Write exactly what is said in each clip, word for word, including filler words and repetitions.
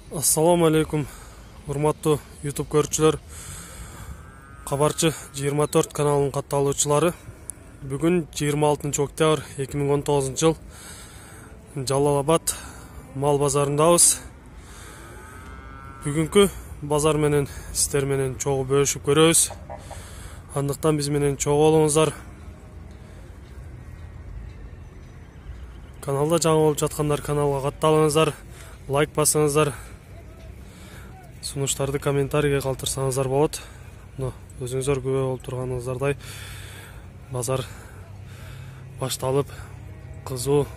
Ассаламу алейкум, урматтуу YouTube көрүүчүлөр. Кабарчы жыйырма төрт каналынын катталуучулары. Бүгүн жыйырма алтынчы октябрь эки миң он тогузунчу жыл Жалал Абад мал базарындабыз. Бүгүнкү базар менен сиздер менен чогуу бөлүшүп көрөбүз. Андыктан биз менен чогуу болуңуздар. Каналда жаңы болуп жаткандар каналга катталыңыздар, лайк басыңыздар. Сунуштарды комментарийге калтырсаңыздар болот. Мына өзүңүздөр күбө болуп турганыңыздардай базар башталып, кызуу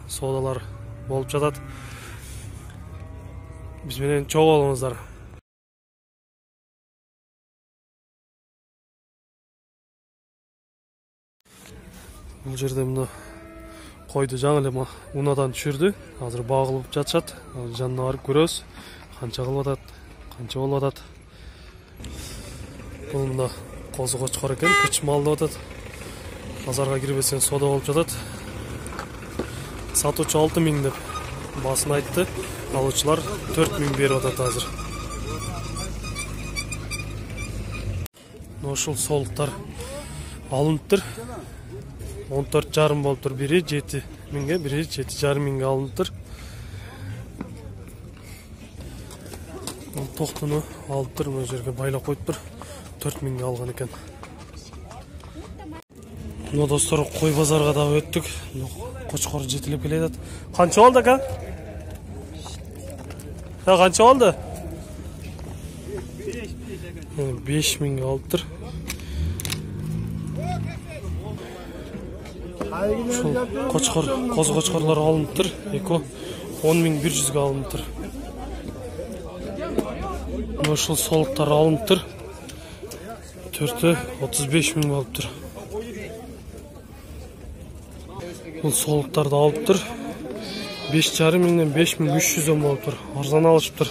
соодалар болуп жатат. Биз менен чогуу болуңуздар. Бул жерде мына койду жаңы эле унадан түшүрдү. Азыр багылып жатышат. Жанына барып көрөбүз. Канча кылып атат, канча болуп атат. Бул мына козу кочкор экен, кыч мал деп атат. Базарга кирбесең соода болуп жатат. Сатуучу алты миң деп баасын айтты. Алуучулар төрт миң берип атат азыр. Ошол соолуктар алыныптыр. он төрт жарым болуптур. Бири жети миңге, бири жети жарым миңге алыныптыр. Токтуну алыптыр, мына жерге байлап коюптур. төрт миңге алган экен. Мына достор, кой базарга да өттүк. Кочкор жетилип келе жатат. Канча болду ака? Ha, канча болду? беш миңге алыптыр. Ушул кочкор, козу кочкорлор алыныптыр. Эко он миң бир жүзгө алыныптыр. Ошол соолуктар алыныптыр. төртү отуз беш миң болуптур. Бул соолуктарды алыптыр. беш жарым миңден беш миң үч жүздөн болуптур. Арзан алышыптыр.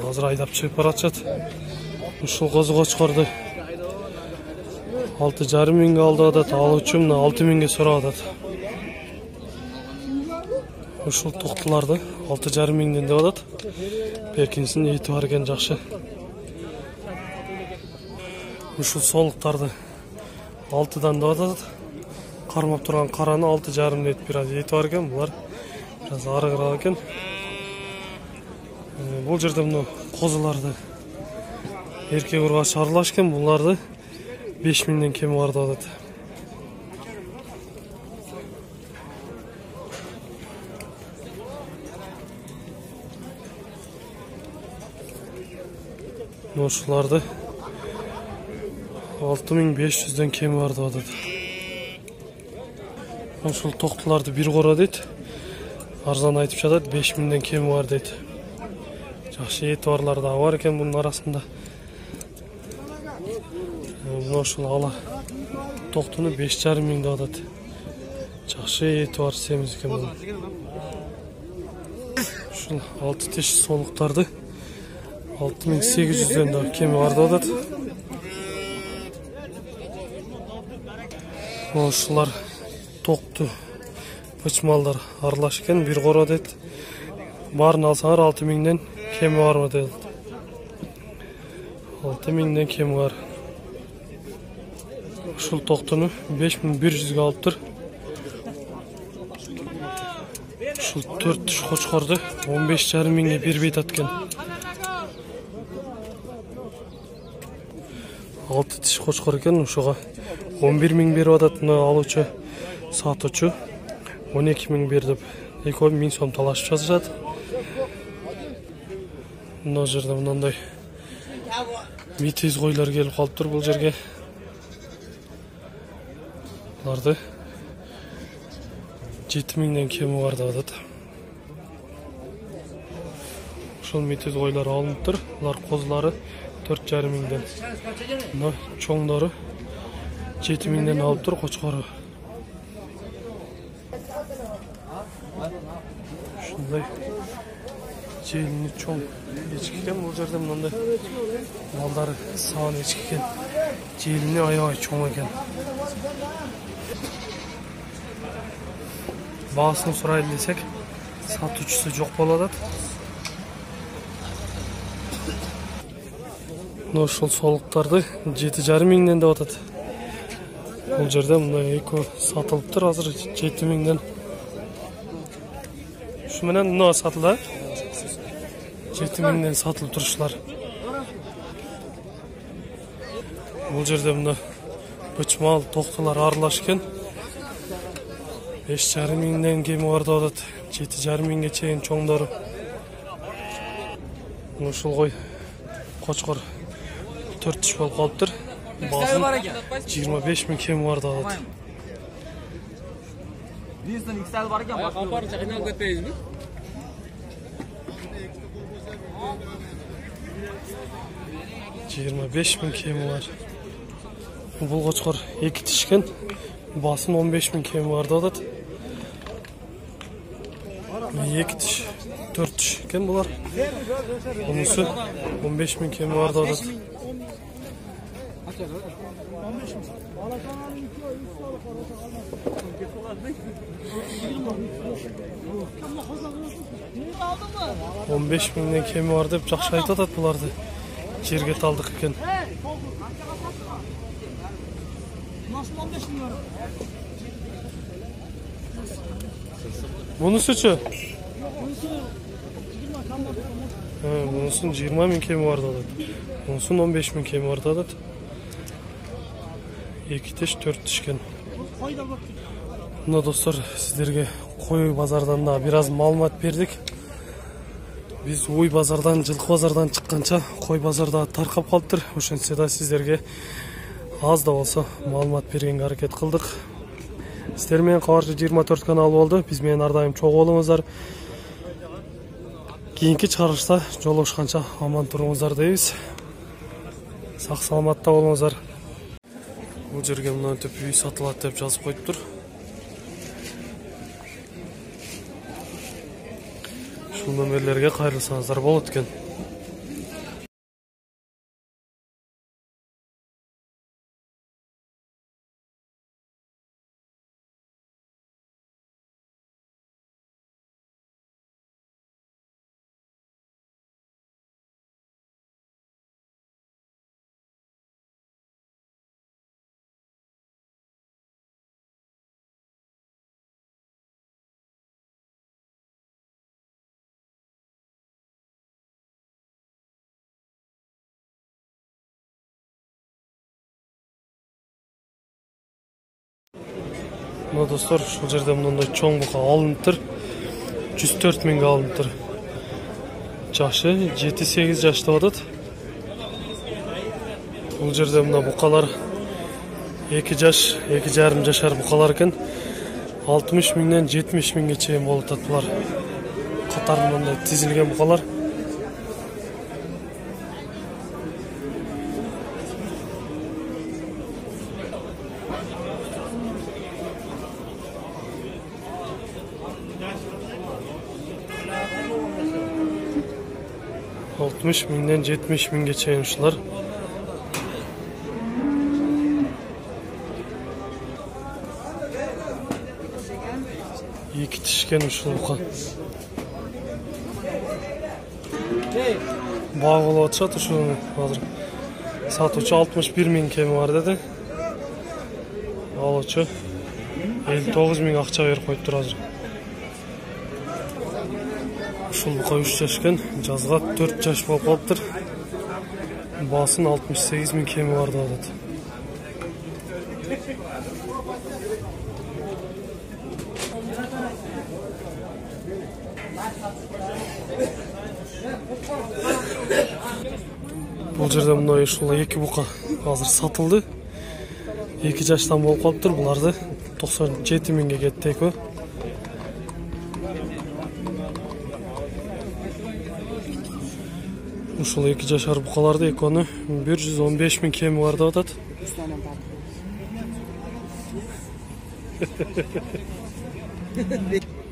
Азыр айдап чыгып баратышат. Ушул козу кочкорду алты жарым миңге алып атат. Алуучу мына алты миңге сурап атат. Ушул токтуларды алты жарым миңден деп атат. Беркинсин эти бар экен, жакшы. Ушул соолуктарды алтыдан деп атат. Кармап турган караны алты жарым дейт, бираз эти бар экен. Булар бираз арыгыраак экен. Бул жерде мына козуларды эркек ургач аралашкен. Буларды беш миңден кеми бар деп атат. Ошоларды алты миң беш жүздөн кеми бар деп атат. Ошол токтуларды бир кора дейт. Арзан айтып жатат, беш миңден кеми бар дейт. Жакшы эти барлар да бар экен бунун арасында. Мына ошол ала токтуну беш жарым миң деп атат. Жакшы эти бар семиз экен бул. Ушул алты тиш соолуктарды алты миң сегиз жүздөн да кеми бар деп атат. Ошолар токту пычмалдар аралаш экен, бир кора дейт. Баарын алсаңар алты миңден кеми барбы дейт. алты миңден кеми бар. Ушул токтуну беш миң бир жүзгө алыптыр. Ушул төрт тиш кочкорду он беш жарым миңге бербей атат экен. алты тиш кочкор экен, ушуга он бир миң берип атат. Мына алуучу сатуучу он эки миң бер деп экөө миң сом талашып жатышат. Мына жерде мындай митиз койлор келип калыптыр бул жерге. Буларды жети миңден кеми бар деп атат. Ушул митиз койлор алыныптыр. Булар козулары төрт жарым миңден. Мына чоңдору жети миңден алыптыр, кочкору. Ушундай желини чоң эчки экен. Бул жерде мындай малдары саан эчки экен. Желини аябай чоң экен. Баасын сурайлы десек, сатуучусу жок болуп атат. Мына ушул солуктарды жети жарым миңден деп атат. Бул жерде мындай эки сатылыптыр азыр жети миңден. Ушу менен мына сатылды. жети миңден сатылып турушулар. Бул жерде мына бычмал токтолор аралаш экен. беш жарым миңден кеми бар деп атат. жети жарым миңге чейин чоңдору. Ушул кой кочкор төрт тиш болуп калыптыр. Базын жыйырма беш миң кеми бар деп атат. Биздин иксел бар экен, башка айналып кетпейбизби? жыйырма беш миң кеми бар. Бул кочкор эки тиш экен. Басын он беш миң кеми бар деп атат. эки тиш, төрт тиш экен булар. Мунусу он беш миң кеми бар деп атат. он беш миңден кеми бар деп жакшы айтып атат буларды. Жерге талдык экен. Мунусучу? Мунусун жыйырма миң кеми бар деп атат. Мунусун он беш миң кеми бар деп атат. эки тиш, төрт тиш экен. Мына достор, сиздерге кой базардан да бир аз маалымат бердик. Биз уй базардан, жылкы базардан чыкканча кой базарда таркап калыптыр. Ошентсе да сиздерге аз да болсо маалымат бергенге аракет кылдык. Сиздер менен Кабарчы жыйырма төрт каналы болду. Биз менен ар дайым чогуу болуңуздар. Кийинки чыгарылышта жолугушканча аман туруңуздар дейбиз. Сак саламатта болуңуздар. Бул жерге мынтип үй сатылат деп жазып коюптур. Ушул номерлерге кайрылсаңыздар болот экен. Мына достор, ушул жерде мындай чоң бука алыныптыр. жүз төрт миңге алыныптыр. Жашы жети сегиз жаш деп атат. Бул жерде мына букалар эки жаш, эки жарым жашар букалар экен. алтымыш миңден жетимиш миңге чейин болуп атат булар. Катар мындай тизилген букалар. алтымыш миңден жетимиш миңге чейин ушулар. эки тишкен ушул бука. Баа болуп атышат ушуну азыр. Сатуучу алтымыш бир миң кеми бар деди. Алуучу элүү тогуз миң акча берип коюптур азыр. Ушул бука үч жаш экен, жазга төрт жаш болуп калыптыр. Баасын алтымыш сегиз миң кеми бар деп атат. Бул жерде мындай ушул эки бука азыр сатылды. эки жаштан болуп калыптыр. Буларды токсон жети миңге кетти экөө. Ушул эки жашар букаларды экөөнү бир жүз он беш миң кеми бар деп атат.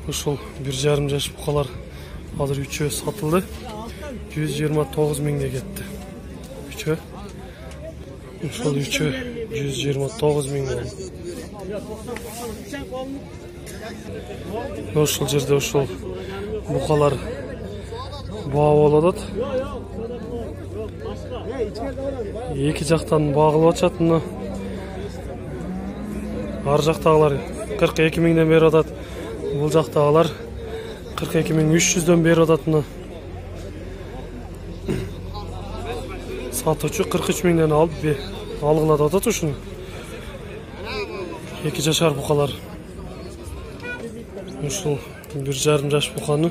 Ушул бир жарым жаш букалар азыр үчөө сатылды. жүз жыйырма тогуз миңге кетти. Үчөө. Ушул үчөө жүз жыйырма тогуз миң болду. Ушул жерде ушул букалар баа болуп атат. Эки жактан багылып атышат мына. Ар жактагылар кырк эки миңден берип атат. Бул жактагылар кырк эки миң үч жүздөн берип атат мына. Сатуучу кырк үч миңден алып алгыла деп атат ушуну. Эки жашар букалар. Ушул бир жарым жаш буканы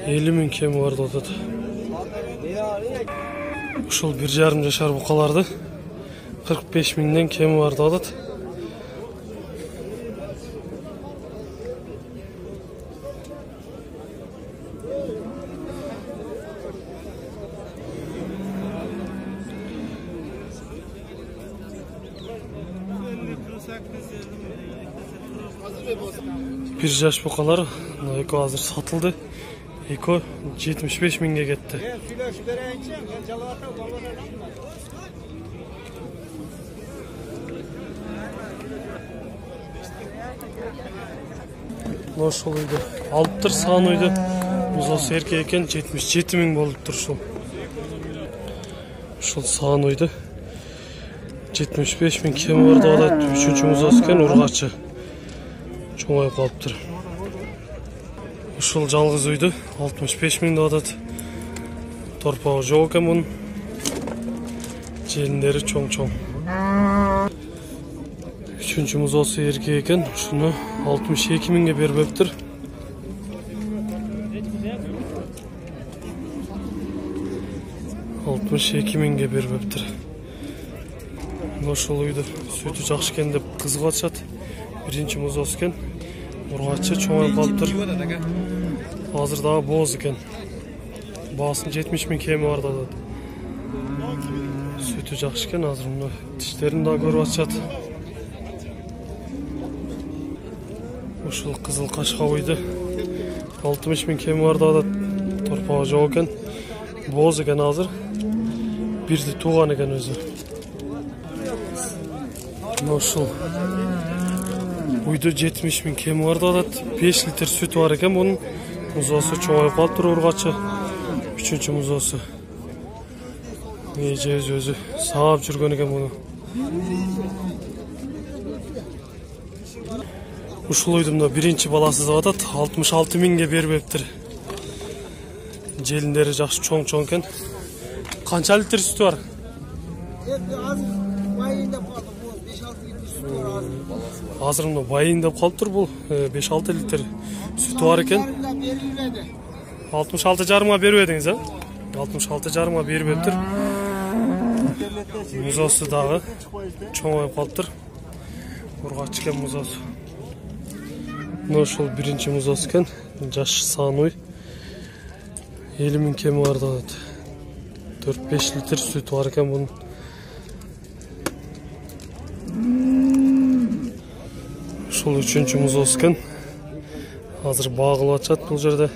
элүү миң кеми бар деп атат. Ушул бир жарым жашар букаларды кырк беш миңден кеми бар деп атат. Bir жаш букалар эко азыр сатылды. Эко жетимиш беш миңге кетти. Ошол үйдө алыптыр саан үйдө. Музоосу эркек экен жетимиш жети миң болуптур ушул. Ушул саан үйдө жетимиш беш миң кеми бар деп атат. Үчүнчү музоосу экен, ургачы. Чоңоюп калыптыр. Ушул жалгыз үйдө алтымыш беш миң деп атат. Торпогу жок экен мунун. Желиндери чоң-чоң. Үчүнчү музоосу эркек экен, ушуну алтымыш эки миңге бербептир. алтымыш эки миңге бербептир. Ошол үйдө сүтү жакшы экен деп кызыгып атышат. Биринчи музоосу экен. Ургачы чоңоюп калыптыр. Азыр дагы бооз экен. Баасын жетимиш миң кеми бар деп атат. Сүтү жакшы экен, азыр мына тиштерин дагы көрүп атышат. Ушул кызыл кашка үйдө алтымыш миң кеми бар деп атат. Торпогу жок экен. Бооз экен азыр. Бирди тууган экен өзү. Ушул үйдө жетимиш миң кеми бар деп атат. беш литр сүтү бар экен мунун. Музоосу чоңоюп калыптыр, ургачы. Үчүнчү музоосу. Эже өзү саап жүргөн экен муну. Ушул үйдүн да биринчи баласы деп атат. алтымыш алты миңге бербептир. Желиндери жакшы чоң-чоң экен. Канча литр сүтү бар? Азыр мына байын деп калыптыр, бул беш алты литр сүтү бар экен. алтымыш алты жарымга бербедиңиз, а? алтымыш алты жарымга бербептир. Музоосу дагы чоңоюп калыптыр. Ургачы экен музоосу. Мына ошол биринчи музоосу экен. Жаш саан үй. элүү миң кеми бар деп атат. төрт беш литр сүтү бар экен бунун. Ушул үчүнчү музоосу экен. Азыр багылып атышат бул жерде.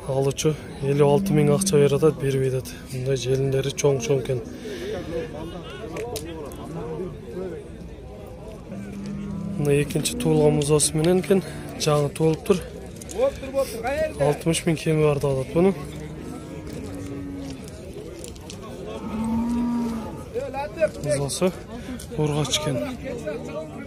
Алуучу элүү алты миң акча берип атат, бербей атат. Мындай желиндери чоң-чоң экен. Мына экинчи туулган музоосу менен экен. Жаңы туулуптур. алтымыш миң кеми бар деп атат буну. Музоосу ургач экен.